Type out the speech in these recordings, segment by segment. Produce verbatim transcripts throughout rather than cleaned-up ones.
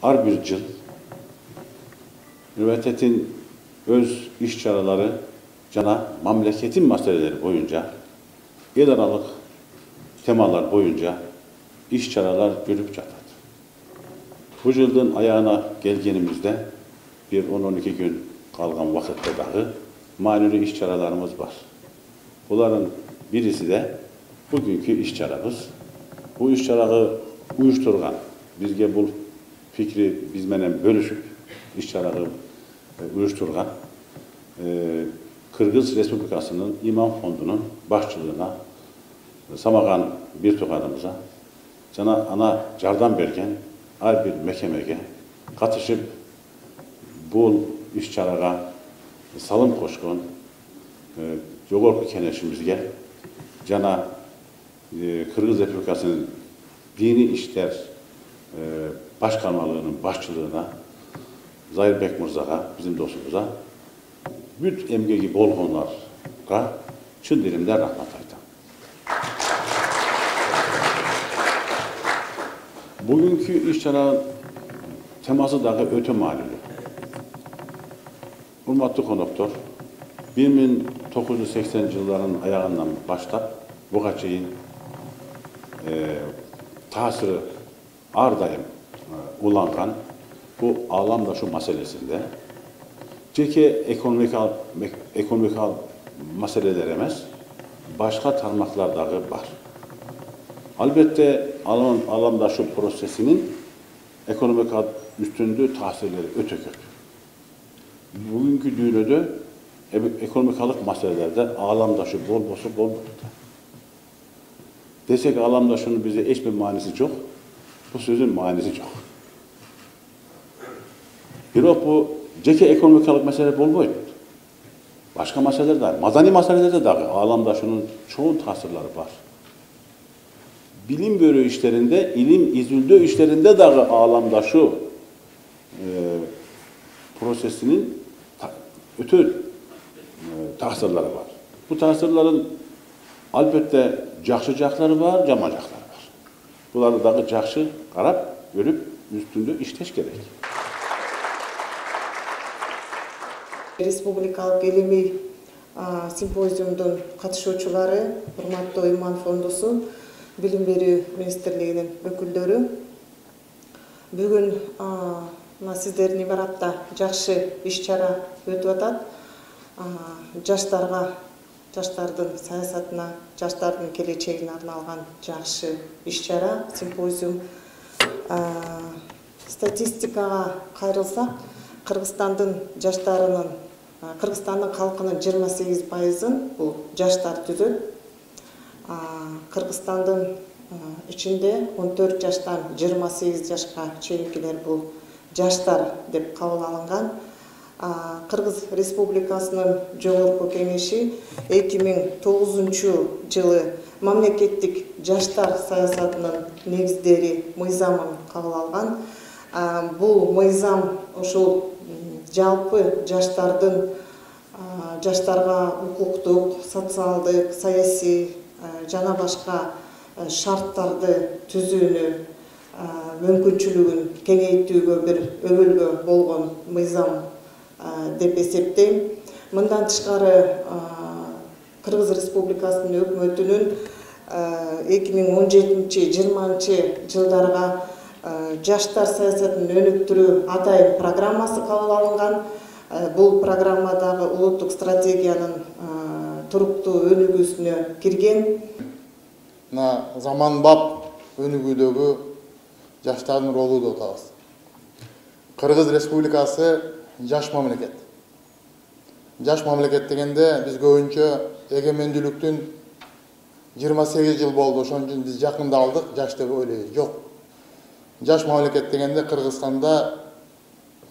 ар бир жыл университеттин өз иш-чаралары жана мамлекеттин маселелери боюнча, эл аралык темалар боюнча иш-чаралар жүрүп жатат. Бул жылдын аягына келгенимизде бир он он эки күн калган вакытта дагы маанилүү иш-чараларыбыз бар. Булардын бириси де бүгүнкү иш-чарабыз. Бул иш-чараны уюштурган, бизге бул фикри биз менен бөлүшүп иш-чараны уюштурган Кыргыз Республикасынын имам фондунун башчылыгына Самаган бир тууганыбызга жана ана жардам берген ар бир мекемеге катышып бул иш-чарага салым кошкон жогорку кеңешибизге жана Кыргыз Республикасынын диний иштер башкармалыгынын башчылыгына Зайырбек мырзага, биздин досубузга бүт эмгеги болгонлорго чын диlimden рахмат айтам. Бүгүнкү иш-чара темасы дагы өтө маанилүү. Урматтуу коноктор, бир миң тогуз жүз сексен жылдарынын аягынан баштап буга чейин таасиры ар дайым уланган бул ааламдашу маселесинде жеке экономикалык экономикалык маселелер эмес, башка тармактар дагы бар. Албетте ааламдашу процессинин экономикалык үстүндүү таасирлери өтө көп. Бүгүнкү дүйнөдө экономикалык маселелерде ааламдашу болбосо болбойт. Десек ааламдашуунун бизде эч бир мааниси жок, бул сөздүн мааниси жок. Бирок бул жеке экономикалык маселе болбойт. Башка маселелер да, маданий маселелерде дагы ааламдашуунун чоң таасирлери бар. Билим берүү иштеринде, илим изилдөө иштеринде дагы ааламдашуу процессинин өтө таасирлери бар. Бул таасирлердин албетте жакшы жактары бар, жаман жактары бар. Буларды дагы жакшы карап, көрүп, үстүндө иштеш керек. Республикалык илимий симпозиумдун катышуучулары, урматтуу имам фондусу, билим берүү министрлигинин өкүлдөрү, бүгүн сиздердин имаратта жакшы иш-чара өтүп атат. Жаштарга, жаштардын саясатына, жаштардын келечегине арналган жакшы иш-чара, симпозиум. Статистикага кайрылсак, Кыргызстандын жаштарынын, Кыргызстандын калкынын жыйырма сегиз пайызын бул жаштар түзөт. Кыргызстандын ичинде он төрт жаштан жыйырма сегиз жашка чейинкилер бул жаштар деп кабыл алынган. Кыргыз Республикасынын жогорку кеңеши эки миң тогузунчу жылы мамлекеттик жаштар саясатынын негиздери мыйзамын кабыл алган. Бул мыйзам ушул жалпы жаштардын жаштарга укуктук, социалдык, саясий жана башка шарттарды түзүүнү мүмкүнчүлүгүн кеңейтүүгө бир өбөлгө болгон мыйзам деп эсептейм. Мындан тышкары Кыргыз Республикасынын өкмөтүнүн эки миң он жетинчи жыйырманчы жылдарга жаштар саясатын өнүктүрүү атайын программасы кабыл алынган. Бул программадагы улуттук стратегиянын туруктуу өнүгүүсүнө кирген. На заманбап өнүгүүдөгү жаштардын ролу деп атабыз. Кыргыз Республикасы жаш мамлекет. Жаш мамлекет дегенде биз көбүнчө эгемендүүлүктүн жыйырма сегиз жыл болду, ошон үчүн биз жакында алдык, жаш деп ойлойбуз. Жок. Жаш мамлекет дегенде Кыргызстанда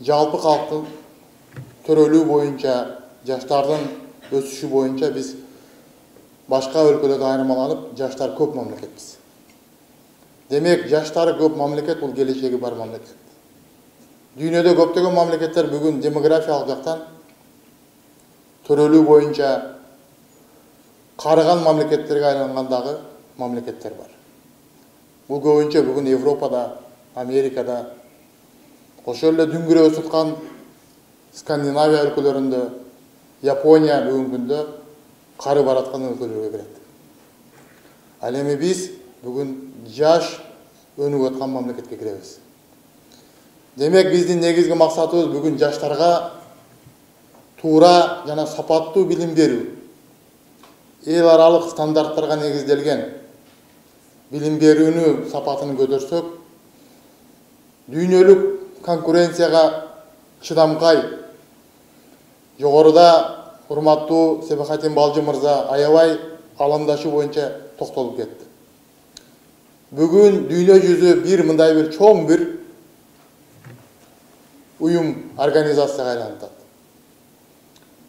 жалпы калктын төрөлүү боюнча, жаштардын өсүшү боюнча биз башка өлкөлөрдөн айырмаланып, жаштар көп мамлекетпиз. Демек, жаштары көп мамлекет, бул келечеги бар мамлекет. Дүйнөдө көптөгөн мамлекеттер бүгүн демографиялык жактан төрөлүү боюнча карыган мамлекеттерге айлангандагы мамлекеттер бар. Бул көбүнчө бүгүн Европада, Америкада, ошол эле дүңгүрөп өсүткан Скандинавия өлкөлөрүндө, Япония бүгүнкү күндө кары бараткан өлкөлөргө кирет. Ал эми биз бүгүн жаш өнүгүп аткан мамлекетке киребиз. Демек биздин негизги максатыбыз бүгүн жаштарга туура жана сапаттуу билим берүү, эл аралык стандарттарга негизделген билим берүүнү сапатын көтөрсөк, дүйнөлүк конкуренцияга чыдамкай, жогоруда урматтуу Себахатин Балжы мырза аябай аламдашуу боюнча токтолуп кетти. Бүгүн дүйнө жүзү бир мындай бир чоң бир уюм, организацияга айланып атат.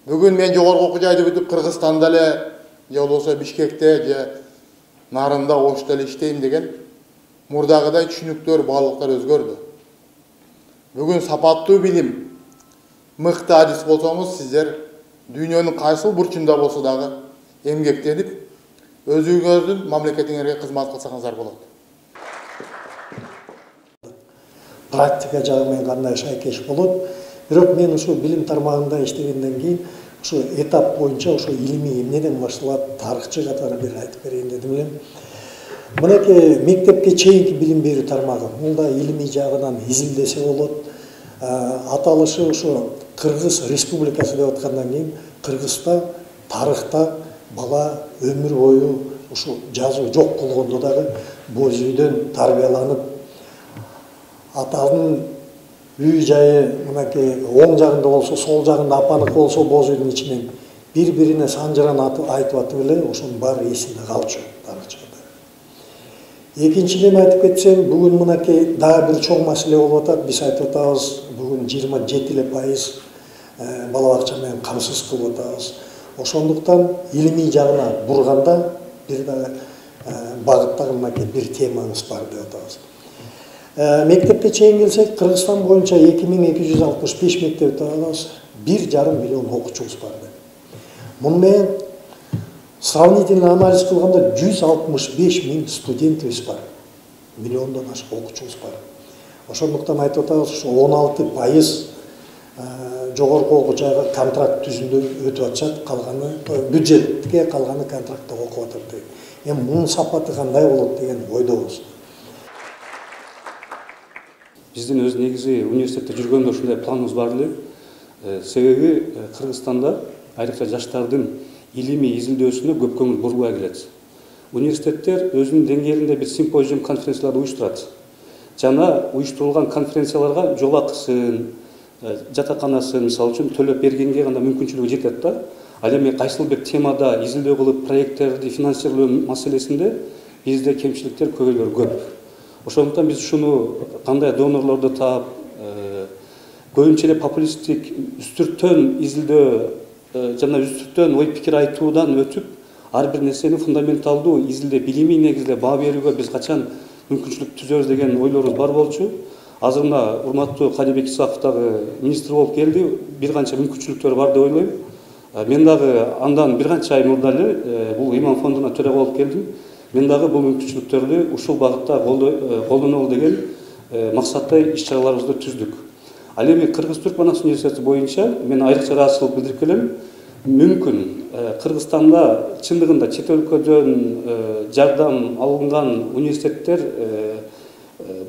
Бүгүн мен жогорку окуу жайды бүтүп Кыргызстанда эле, же болбосо Бишкекте, же Нарында, Ошто эле иштейм деген мурдагыдай түшүнүктөр, баалыктар өзгөрдү. Бүгүн сапаттуу билим, мыкты адис болсоңуз, сиздер дүйнөнүн кайсыл бурчунда болсо дагы эмгектенип, өзүңүздүн мамлекетиңерге кызмат кылсаңыздар болот. Практика жагы менен кандай шайкеш болот. Бирок мен ушул билим тармагында иштегенден кийин ушул этап боюнча ушул илимий эмнеден башталат, тарыхчы катары бир айтып берейин дедим эле. Мынакей мектепке чейинки билим берүү тармагы. Бул да илимий жагынан изилдесе болот. Аталышы ушу Кыргыз Республикасы деп аткандан кийин Кыргызда тарыхта бала өмүр бою ушу жазуу жок болгондо дагы боз үйдөн тарбияланып, атанын үй жайы мынакей оң жагында болсо, сол жагында апаныкы болсо боз үйдүн ичинен бири-бирине санжыран айтып атып эле ошонун баары эсинде калчу тарыхчылар. Экинчиден айтып кетсем, бүгүн мынакей дагы бир чоң маселе болуп атат. Биз айтып атабыз, бүгүн жыйырма жети эле пайыз бала бакча менен камсыз кылып атабыз. Ошондуктан илимий жагына бурганда бир дагы багыттагы мынакей бир темаңыз бар деп атабыз. Мектепке чейин келсек, Кыргызстан боюнча эки миң эки жүз алтымыш беш мектепти алабыз, бир жарым миллион окуучубуз бар. Муну менен сравнительный анализ кылганда жүз алтымыш беш миң студентибиз бар. Миллиондон ашык окуучубуз бар. Ошондуктан айтып атабыз, ушу он алты пайыз жогорку окуу жайга контракт түзүндө өтүп атышат, калганы бюджетке, калганы контрактта окуп атат деген. Эми мунун сапаты кандай болот деген ойдобуз. Биздин өз негизи университетте жүргөндө ушундай планыбыз бар эле. Себеби Кыргызстанда айрыкча жаштардын илимий изилдөөсүнө көп көңүл бурулбай келет. Университеттер өзүнүн деңгээлинде бир симпозиум, конференцияларды уюштурат. Жана уюштурулган конференцияларга жол акысын, жатаканасын мисалы үчүн төлөп бергенге гана мүмкүнчүлүгү жетет да. Ал эми кайсыл бир темада изилдөө кылып проекттерди финансирлөө маселесинде бизде кемчиликтер көбөйлөр көп. Ошондуктан биз ушуну кандай донорлорду таап, көбүнчө эле популисттик үстүртөн изилдөө жана үстүртөн ой пикир айтуудан өтүп, ар бир нерсени фундаменталдуу изилдеп, билимий негизде баа берүүгө биз качан мүмкүнчүлүк түзөбүз деген ойлорубуз бар болчу. Азыр мына урматтуу Калибек Исаков дагы министр болуп келди, бир канча мүмкүнчүлүктөр бар деп ойлойм. Мен дагы андан бир канча ай мурда эле бул Иман фондуна төрага болуп келдим. Мен дагы бул мүмкүнчүлүктөрдү ушул багытта колдонолу деген максатта иш-чараларыбызды түздүк. Ал эми Кыргыз-Түркманас университети боюнча мен айрыкча ыраазычылык билдирип келем. Мүмкүн Кыргызстанда чындыгында чет өлкөдөн жардам алынган университеттер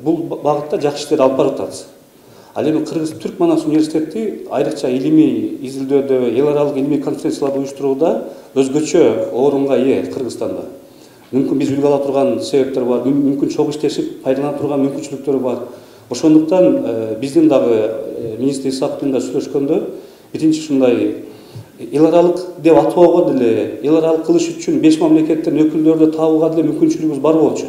бул багытта жакшы иштер алып барып атат. Ал эми Кыргыз-Түркманас университети айрыкча илимий изилдөөдө, эл аралык илимий конференцияларды уюштурууда өзгөчө орунга ээ Кыргызстанда. Мүмкүн биз үлгү ала турган себептер бар, мүмкүн чогуу иштешип пайдалана турган мүмкүнчүлүктөр бар. Ошондуктан биздин дагы министр Исаков менен сүйлөшкөндө биринчи ушундай эл аралык деп атоого деле, эл аралык кылыш үчүн беш мамлекеттен өкүлдөрдү табууга деле мүмкүнчүлүгүбүз бар болчу.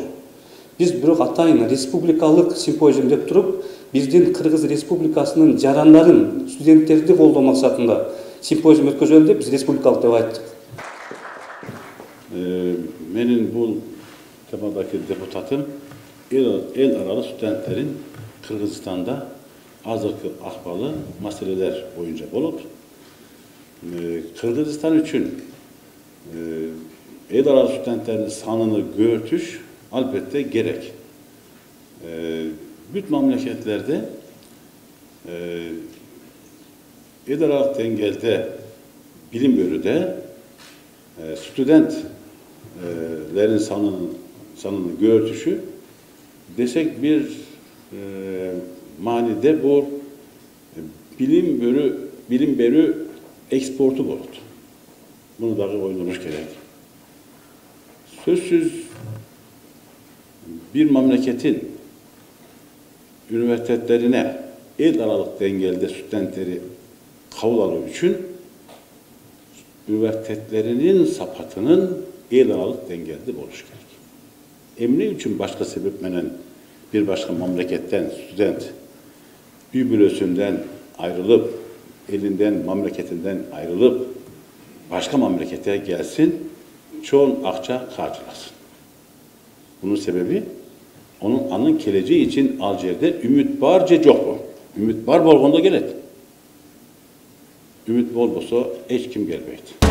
Биз бирок атайын республикалык симпозиум деп туруп, биздин Кыргыз Республикасынын жарандарын, студенттерди колдоо максатында симпозиум өткөзөлү деп биз республикалык деп айттык. Менин бул темадагы депутатым эл аралык студенттерин Кыргызстанда азыркы акыбалы маселелер боюнча болуп, Кыргызстан үчүн эл аралык студенттердин санын көбөйтүш албетте керек. Бүт мамлекеттерде эл аралык деңгээлде билим берүүдө студентlerin санынын санынын көбөйтүшү десек бир мааниде бул билим берүү билим берүү экспорту болот. Bunu dagы oynamış gerek. Sözsüz bir memleketin üniversitelerine el aralık dengelde studentleri kabul alıyor için üniversitelerinin sapatının el aralık dengelde oluş gerek. Emni için başka sebepmenen bir başka memleketten student bir bölösünden ayrılıp elinden memleketinden ayrılıp başka memlekete gelsin, çoğun akça karşılasın. Bunun sebebi, onun anın geleceği için Alcer'de ümit barca yok bu. Ümit var bolğonda gelet. Ümit bol bolsa hiç kim gelmeydi.